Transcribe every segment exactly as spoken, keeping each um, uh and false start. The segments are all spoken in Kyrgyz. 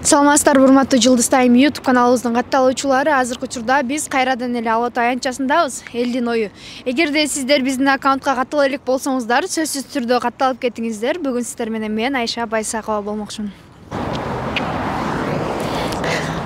Саламатсыздарбы, урматтуу Жылдыз Тайм YouTube каналыбыздын катталуучулары. Азыркы учурда биз кайрадан эле Ала Тоо аянтчасындабыз. Элдин ою. Эгерде сиздер биздин аккаунтка каттала элек болсоңуздар, сөзсүз түрдө катталып кетиңиздер. Бүгүн сиздер менен мен Айша Байсакова болмокчумун.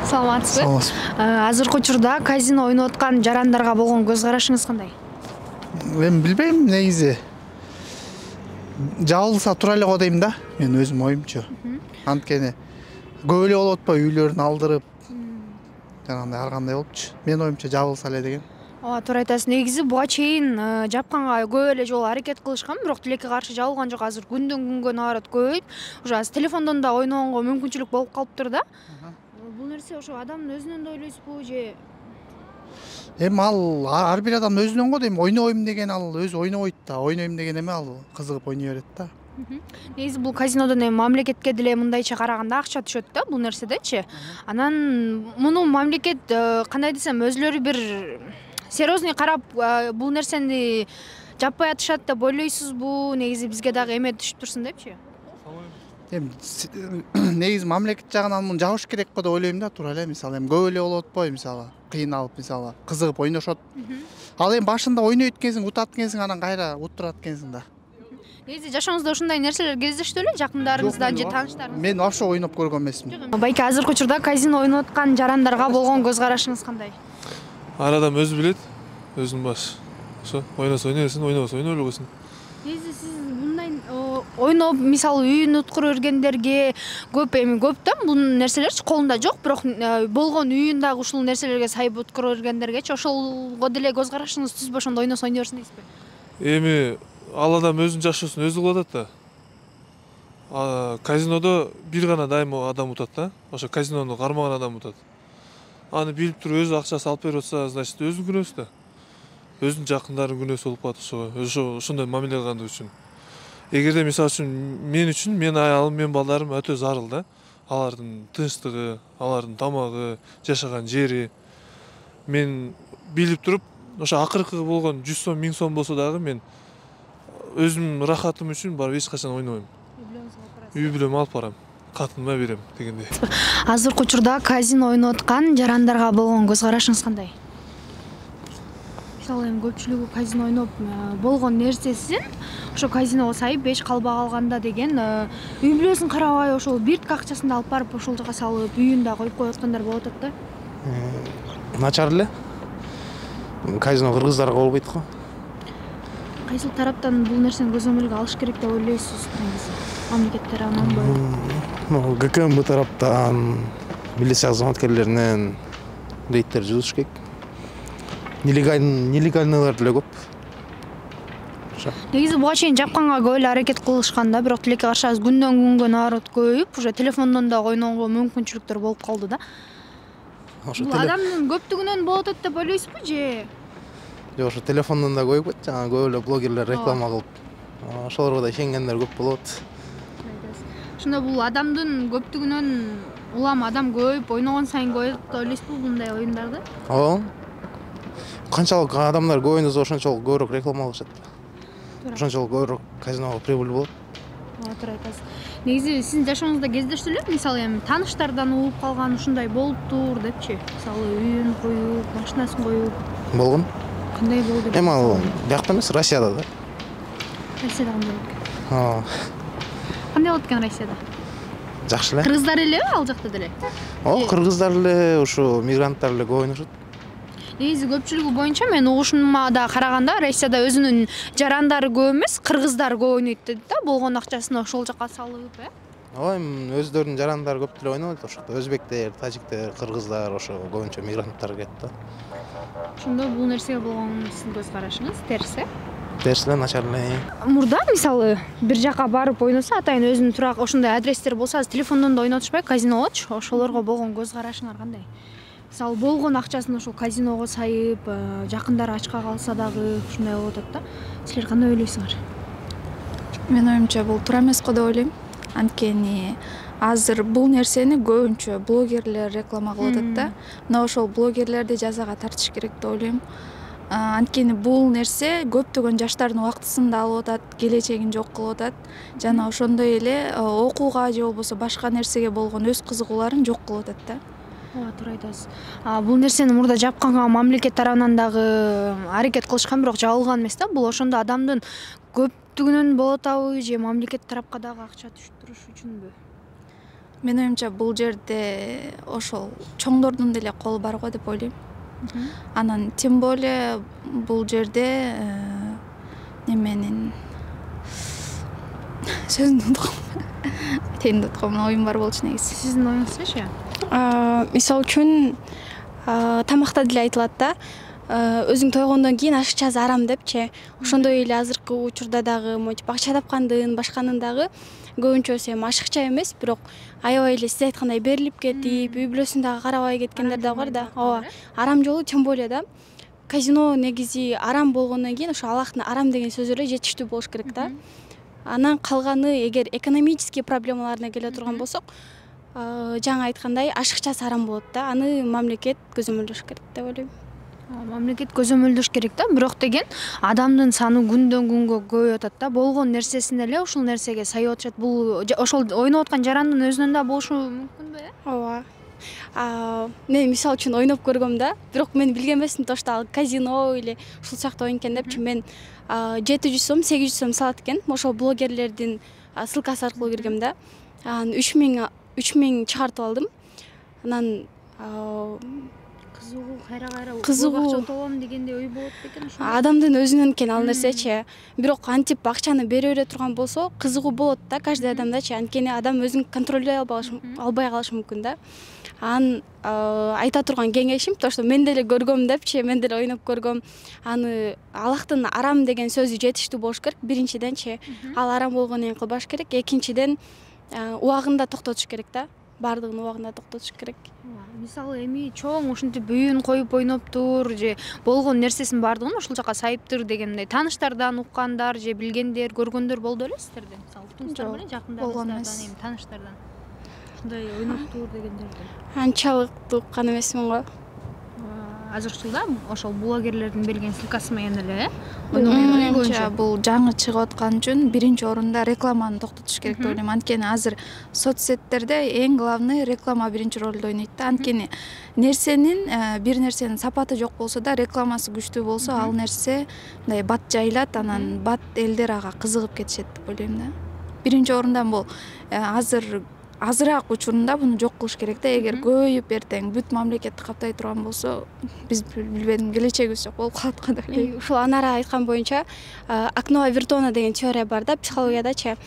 Саламатсызбы? Азыркы учурда казино ойноп аткан жарандарга болгон көз карашыңыз кандай? Мен билбейм, негизи. Жабылса тура эле го дейм да. Мен өзүм оюмчу. Анткени көп эле болуп атпайбы, үйлөрүн алдырып, жанагындай ар кандай болупчу. Мен оюмча жабылса эле деген. Ооба, туура айтасыз. Негизи буга чейин жапканга көп эле жолу аракет кылышкан, бирок тилекке каршы жабылган жок. Азыр күндөн күнгө наоборот көбөйүп, уже азыр телефондон да ойногонго мүмкүнчүлүк болуп калыптыр да. Бул нерсе ошо адамдын өзүнөн да ойлойсузбу же? Эми ал ар бир адам өзүнөн го дейм. Ойнойм деген ал өзү ойнобойт да. Ойнойм деген эме ал кызыгып ойной берет да. Негизи бул казинодон эми мамлекетке деле мындайча караганда акча түшөт да бул нерседечи. Анан муну мамлекет кандай десем өзлөрү бир серьезный карап бул нерсени жаппай атышат деп ойлойсузбу? Негизи бизге дагы эме түшүп турсун депчи. Эми негизи мамлекет жагынан муну жабыш керек го деп ойлойм да, туура эле. Мисалы эми көп эле болуп атпайбы, мисалы кыйналып, мисалы кызыгып ойношот. Ал эми башында ойнойт экенсиң, утат экенсиң, анан кайра уттурат экенсиң да. Негизи жашооңузда ушундай нерселер кездештү беле, жакындарыңыздан же тааныштарыңыздан? Мен вообще ойноп көргөн эмесмин. Байке, азыркы учурда казино ойноп аткан жарандарга болгон көз карашыңыз кандай? Ар адам өзү билет, өзүнүн башы. Ошо, ойносо ойной берсин, ойнобосо ойной бербесин. Негизи сиз мындай ойноп, мисалы үйүн уткура бергендерге көп эми көп да бул нерселерчи колунда жок, бирок болгон үйүн дагы ушул нерселерге сайып уткура бергендергечи ошолго деле көз карашыңыз түзбөй ошондо ойносо ойной берсин дейсизби? Эми ал адам өзүнүн жашоосун өзү кылып атат да. Казинодо бир гана дайыма адам утат да. Ошо казинону кармаган адам утат. Аны билип туруп өзү акчасын алып берип атса, значит өзүнүн күнөөсү да. Өзүнүн жакындарынын күнөөсү болуп калат ошого. Ошо ошондой мамиле кылгандыгы үчүн. Эгерде мисалы үчүн мен үчүн, мен аялым, мен балдарым өтө зарыл да. Алардын тынчтыгы, алардын тамагы, жашаган жери. Мен билип туруп, ошо акыркы болгон жүз сом, миң сом болсо дагы мен өзүмдүн рахатым үчүн барып эч качан ойнобойм. Үй бүлөмө алып барам, катыныма берем дегендей. Азыркы учурда казино ойноп аткан жарандарга болгон көз карашыңыз кандай? Мисалы эми көпчүлүгү казино ойноп болгон нерсесин ошо казиного сайып эч калбай калганда деген үй бүлөсүн карабай ошол биртик акчасын да алып барып ошол жака салып, үйүн да коюп коюп аткандар болуп атат да. Начар эле. Казино кыргыздарга болбойт го. Кайсыл тараптан бул нерсени көзөмөлгө алыш керек деп ойлойсуз? Мамлекет тарабынан Г К М Б тараптан, милиция кызматкерлеринен рейдтер жүргүзүш керек. Нелегальныйлар деле көп. Негизи буга чейин жапканга көп эле аракет кылышкан да, бирок тилекке каршы азыр күндөн күнгө наоборот көбөйүп, уже телефондон да ойногонго мүмкүнчүлүктөр болуп калды да. Бул адамдын көптүгүнөн болуп атат деп ойлойсузбу же? Жок, ошо телефондон да көбөйүп, жана көп эле блогерлер реклама кылып, ошолорго да ишенгендер көп болот. Ошондо бул адамдын көптүгүнөн улам адам көбөйүп, ойногон сайын көбөйөт деп ойлойсузбу мындай оюндарды? Ооба. Канчалык адамдар көп ойносо ошончолук көбүрөөк реклама кылышат. Ошончолук көбүрөөк казиного прибыль болот. Ооба, туура айтасыз. Негизи сиздин жашооңузда кездештү эле, мисалы эми тааныштардан угуп калган ушундай болуптур депчи? Мисалы үйүн коюп, машинасын коюп. Болгон. Кандай болду? Эми ал биякта эмес, Россияда да. Россияда кандай болду? Ооба. Кандай болот экен Россияда? Жакшы эле. Кыргыздар элеби ал жакта деле? Ооба, кыргыздар эле, ушу мигранттар эле көп ойношот. Негизи көпчүлүгү боюнча мен угушума да караганда Россияда өзүнүн жарандары көп эмес, кыргыздар көп ойнойт дейт да, болгон акчасын ошол жака салып, э? Ооба, эми өздөрүнүн жарандары көп деле ойнойт ошокто. Өзбектер, тажиктер, кыргыздар, ошо көбүнчө мигранттар келет да. Ошондо бул нерсеге болгон сиздин көз карашыңыз терс, э? Терс эле, начар эле. Мурда мисалы бир жака барып ойносо, атайын өзүнүн турак ошондой адрестер болсо, азыр телефондон да ойнотушпай, казиногочу, ошолорго болгон көз карашыңар кандай? Мисалы болгон акчасын ошол казиного сайып, жакындары ачка калса дагы ушундай болуп атат да. Силер кандай ойлойсуңар? Менин оюмча бул туура эмес го деп ойлойм. Анткени азыр бул нерсени көбүнчө блогерлер реклама кылып атат да. Мына ошол блогерлерди жазага тартыш керек деп ойлойм. анткени бул нерсе көптөгөн жаштардын убактысын да алып атат, келечегин жок кылып атат жана ошондой эле окууга же болбосо башка нерсеге болгон өз кызыгууларын жок кылып атат да. Ооба, туура айтасыз. Бул нерсени мурда жапканга мамлекет тарабынан дагы аракет кылышкан, бирок жабылган эмес да. Бул ошондо адамдын көптүгүнөн болот атабы же мамлекет тарапка дагы акча түшүрүш үчүнбү? Менин оюмча бул жерде ошол чоңдордун деле колу бар го деп ойлойм. Анан тем более бул жерде неменин сөзүн унуткам. Айтайын деп аткам, оюм бар болчу негизи. Сиздин оюңузчу? Мисалы үчүн тамакта деле айтылат да, өзүң тойгондон кийин ашыкча арам депчи. Ошондой эле азыркы учурда дагы монтип акча тапкандын, башканын дагы көбүнчөсү эми ашыкча эмес, бирок аябай эле сиз айткандай берилип кетип, үй бүлөсүн дагы карабай кеткендер да бар да. Ооба, арам жолу тем более да. Казино негизи арам болгондон кийин ошо Аллахтын арам деген сөзү эле жетиштүү болуш керек да. Анан калганы эгер экономический проблемаларына келе турган болсок, жаңа айткандай ашыкчасы арам болот да. Аны мамлекет көзөмөлдөш керек деп ойлойм. Мамлекет көзөмөлдөш керек да, бирок деген адамдын саны күндөн күнгө көбөйүп атат да. Болгон нерсесин эле ушул нерсеге сайып атышат. Бул ошол ойноп аткан жарандын өзүнөн да болушу мүмкүнбү? Ооба. Мен мисалы үчүн ойноп көргөм да, бирок мен билген эмесмин тошто ал казино или ушул сыяктуу ойын экен депчи. Мен жети жүз сом, сегиз жүз сом салат экен. Ошол блогерлердин ссылкасы аркылуу киргем да. Анан үч миң чыгартып алдым. Анан кызыгуу кайра-кайра кызыгуу акча утобом дегенде ой болот экен ошо. Адамдын өзүнөн экен ал нерсечи. Бирок антип акчаны бере бере турган болсо, кызыгуу болот да каждый адамдачы. Анткени адам өзүн контролдой албай калышы мүмкүн да. Анан айта турган кеңешим тошто мен деле көргөм депчи, мен деле ойноп көргөм. Аны Аллахтын арам деген сөзү жетиштүү болуш керек. Биринчиденчи, ал арам болгондон кийин кылбаш керек. Экинчиден, убагында токтотуш керек да. Бардыгын убагында токтотуш керек. Мисалы эми чоң ушинтип үйүн коюп ойноптур же болгон нерсесин бардыгын ошол жака сайыптыр дегендей тааныштардан уккандар же билгендер, көргөндөр болду беле сиздерде? Мисалы туңуздар менен жакындарыңыздардан, эми тааныштардан ушундай ойноптур дегендерди. Анчалык уккан эмесмин го. Азырчылда ошол блогерлердин берген ссылкасы менен эле, э? Бул жаңы чыгып аткан үчүн биринчи орунда рекламаны токтотуш керек деп ойлойм. Анткени азыр соцсеттерде эң главный реклама биринчи ролду ойнойт да. Анткени нерсенин бир нерсенин сапаты жок болсо да, рекламасы күчтүү болсо, ал нерсе мындай бат жайылат, анан бат элдер ага кызыгып кетишет деп ойлойм да. Биринчи орундан бул азыр азыраак учурунда буну жок кылыш керек да. Эгер көбөйүп эртең бүт мамлекетти каптай турган болсо, биз билбедим келечегибиз жок болуп калат го деп ойлойм. Ушул Анара айткан боюнча, окно Авертона деген теория бар да психологиядачы.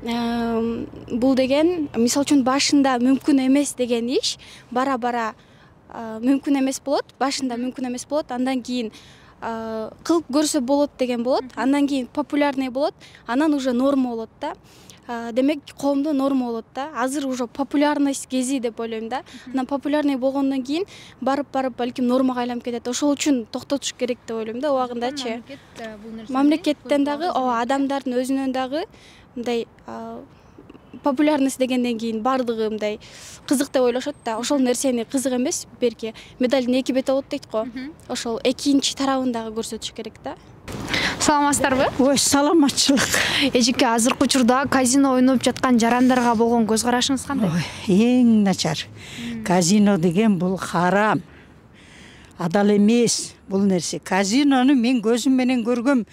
Бул деген мисалы үчүн башында мүмкүн эмес деген иш бара-бара мүмкүн эмес болот, башында мүмкүн эмес болот, андан кийин кылып көрсө болот деген болот, андан кийин популярный болот, анан уже норма болот да. Демек коомдо норма болот да. Азыр уже популярность кези деп ойлойм да. Анан популярный болгондон кийин барып-барып балким нормага айланып кетет. Ошол үчүн токтотуш керек деп ойлойм да убагындачы. Мамлекеттен дагы, ооба, адамдардын өзүнөн дагы мындай популярность дегенден кийин бардыгы мындай кызык деп ойлошот да. Ошол нерсени кызык эмес, берки медалдын эки бети болот дейт го. Ошол экинчи тарабын дагы көрсөтүш керек да. Саламатсыздарбы? Ой, саламатчылык. Эжеке, азыркы учурда казино ойноп жаткан жарандарга болгон көз карашыңыз кандай? Ой, эң начар. Казино деген бул харам. Адал эмес бул нерсе. Казинону мен көзүм менен көргөм.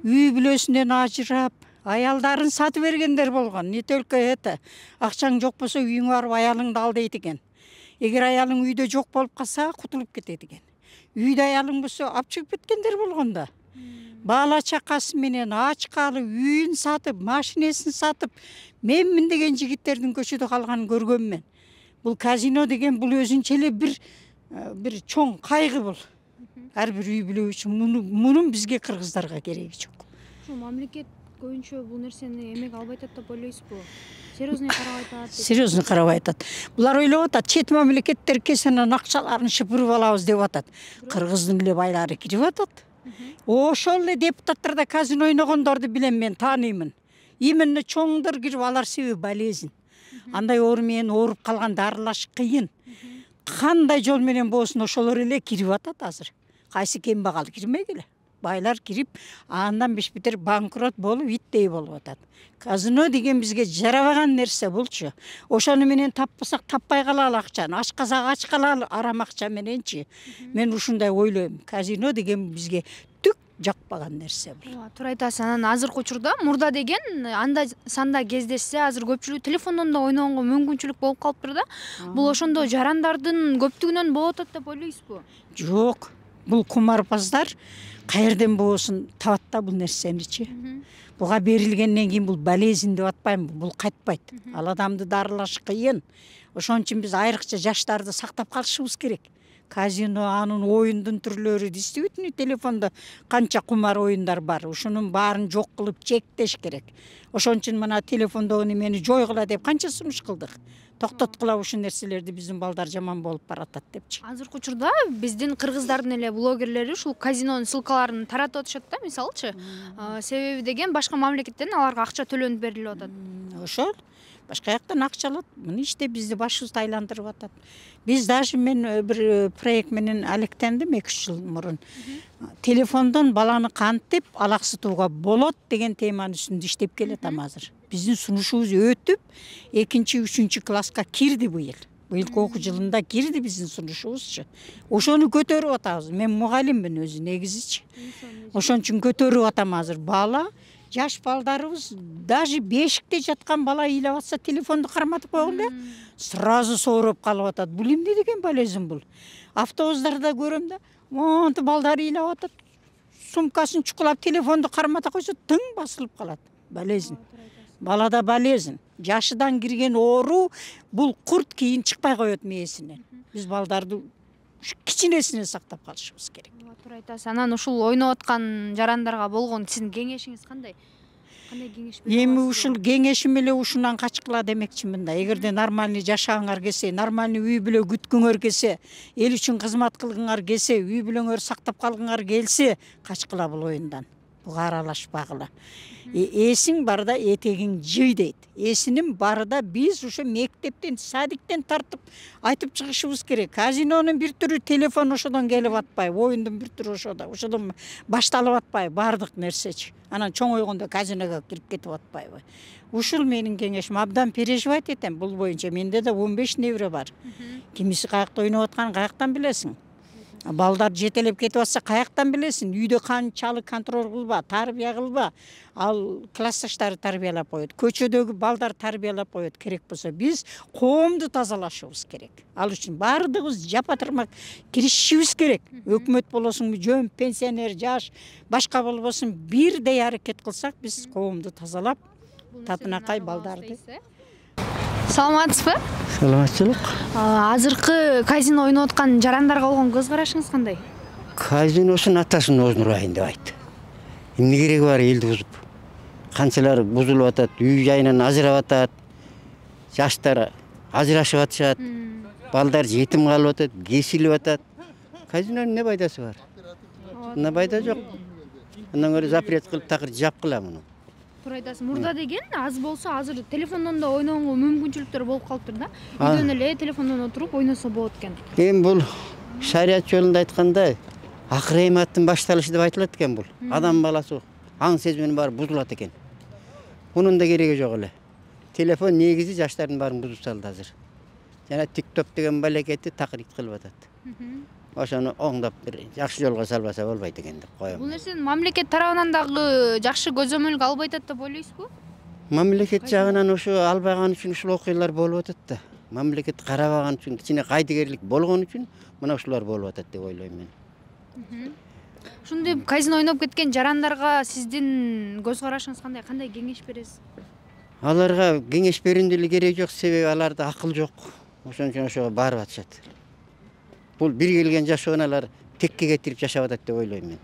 Үй бүлөсүнөн ажырап, аялдарын сатып бергендер болгон. Не только это. Акчаң жок болсо үйүңө барып аялыңды ал дейт экен. Эгер аялың үйдө жок болуп калса, кутулуп кетет экен. Үйдө аялың болсо алып чыгып кеткендер болгон да. Бала чакасы менен ачкалы үйүн сатып, машинесин сатып, менмин деген жигиттердин көчөдө калганын көргөм мен. Бул казино деген бул өзүнчө эле бир бир чоң кайгы бул. Ар бир үй бүлө үчүн мунун бизге кыргыздарга кереги жок. Ушул мамлекет көбүнчө бул нерсени эмек албай атат деп ойлойсузбу? Серьезный карабай атат. Серьезный карабай атат. Булар ойлоп атат, чет мамлекеттер кесенен акчаларын шыпырып алабыз деп атат. Кыргыздын эле байлары кирип атат. Ошол эле депутаттар да казино ойногондорду билем, мен тааныймын. Именно чоңдор кирип, алар себеби болезнь. Андай оору менен ооруп калган дарылаш кыйын. Кандай жол менен болсун ошолор эле кирип атат азыр. кайсы кембагал кирмегиле. Байлар кирип, андан беш бетер банкрот болуп, иттей болуп атат. Казино деген бизге жарабаган нерсе булчу. Ошону менен таппасак таппай калалы акчаны, ачкасак ачкалалы арам акча мененчи. Мен ушундай ойлойм. Казино деген бизге түк жакпаган нерсе бул. Туура айтасыз. Анан азыркы учурда мурда деген анда санда кездешсе, азыр көпчүлүк телефондон да ойногонго мүмкүнчүлүк болуп калыптыр да. Бул ошондо жарандардын көптүгүнөн болуп атат деп ойлойсузбу? Жок. Бул кумарбаздар каерден болсун табат да бул нерсеничи. Буга берилгенден кийин бул болезнь деп атпаймынбы, бул кайтпайт. Ал адамды дарылаш кыйын. Ошон үчүн биз айрыкча жаштарды сактап калышыбыз керек. Казино, анын оюндун түрлөрү, действительно телефондо канча кумар оюндар бар. Ушунун баарын жок кылып чектеш керек. Ошон үчүн мына телефондогу немени жойгула деп канча сунуш кылдык. Токтоткула ушул нерселерди, биздин балдар жаман болуп баратат депчи. Азыркы учурда биздин кыргыздардын эле блогерлери ушул казинонун ссылкаларын таратып атышат да, мисалычы. Себеби деген башка мамлекеттен аларга акча төлөнүп берилип атат. Ошол башка жактан акча алат. Мына иште бизди башыбызды айландырып атат. Биз даже мен бир проект менен алектендим эки үч жыл мурун. Телефондон баланы кантип алаксытууга болот деген теманын үстүндө иштеп келатам азыр. Биздин сунушубуз өтүп, экинчи, үчүнчү класска кирди быйыл. Быйылкы окуу жылында кирди биздин сунушубузчу. Ошону көтөрүп атабыз. Мен мугалиммин өзү негизичи. Ошон үчүн көтөрүп атам азыр. Бала, жаш балдарыбыз, даже бешикте жаткан бала ыйлап атса, телефонду карматып койгон эле, сразу сооруп калып атат. Бул эмне деген болезнь бул? Автобустарда көрөм да, монтип балдар ыйлап атат. Сумкасын чукулап, телефонду кармата койсо, тың басылып калат. Болезнь. Балада болезнь. Жашыдан кирген оору, бул курт кийин чыкпай коет мээсинен. Биз балдарды кичинесинен сактап калышыбыз керек. Туура айтасыз. Анан ушул ойноп аткан жарандарга болгон сиздин кеңешиңиз кандай? Кандай кеңеш берип? Эми ушул кеңешим эле ушунан качкыла демекчимин да. Эгерде нормальный жашагыңар келсе, нормальный үй бүлө күткүңөр келсе, эл үчүн кызмат кылгыңар келсе, үй бүлөңөр сактап калгыңар келсе, качкыла бул оюндан. Буга аралашпагыла. Эсиң барда этегиң жый дейт. Эсинин барда биз ушу мектептен, садиктен тартып айтып чыгышыбыз керек. Казинонун бир түрү телефон ошодон келип атпайбы, оюндун бир түрү ошодо, ошодон башталып атпайбы, бардык нерсечи. Анан чоңойгондо казиного кирип кетип атпайбы. Ушул менин кеңешим. Абдан переживать этем бул боюнча. Менде да он беш небре бар. Кимиси каякта ойноп атканын каяктан билесиң? Балдар жетелеп кетип атса каяктан билесиң? Үйдө канчалык контроль кылба, тарбия кылба. Ал классташтары тарбиялап коет. Көчөдөгү балдар тарбиялап коет керек болсо. Биз коомду тазалашыбыз керек. Ал үчүн бардыгыбыз жапа-тырмак киришишибиз керек. Өкмөт болосуңбу, жөн, пенсионер, жаш, башка болбосун бирдей аракет кылсак, биз коомду тазалап, татынакай балдарды. Саламатсызбы? Саламатчылык. Азыркы казино ойноп аткан жарандарга болгон көз карашыңыз кандай? Казиносун атасын өзүн урайын деп айт. Эмне кереги бар элди бузуп? Канчалар бузулуп атат, үй жайынан ажырап атат. Жаштар ажырашып атышат. Балдар жетим калып атат, кесилип атат. Казинонун эмне пайдасы бар? Мына пайда жок. Андан көрө запрет кылып такыр жапкыла муну. Туура айтасыз. Мурда деген аз болсо азыр телефондон да ойногонго мүмкүнчүлүктөр болуп калыптыр да. Үйдөн эле телефондон отуруп ойносо болот экен. Эми бул шарият жолунда айтканда акыр эматтын башталышы деп айтылат экен бул. Адам баласы аң сезиминин баары бузулат экен. Мунун да кереги жок эле. Телефон негизи жаштардын баарын бузуп салды азыр. Жана TikTok деген балекетти такыр ит кылып атат. Ошону оңдоп бир жакшы жолго салбаса болбойт экен деп коем. Бул нерсени мамлекет тарабынан дагы жакшы көзөмөлгө албай атат деп ойлойсузбу? Мамлекет жагынан ушу албаган үчүн ушул окуялар болуп атат да. Мамлекет карабаган үчүн, кичине кайдыгерлик болгон үчүн мына ушулар болуп атат деп ойлойм мен. Ушундай казино ойноп кеткен жарандарга сиздин көз карашыңыз кандай? Кандай кеңеш бересиз? Аларга кеңеш берүүнүн деле кереги жок, себеби аларда акыл жок. Ошон үчүн ошого барып атышат. Бул бир келген жашоону алар текке кетирип жашап атат деп ойлойм мен.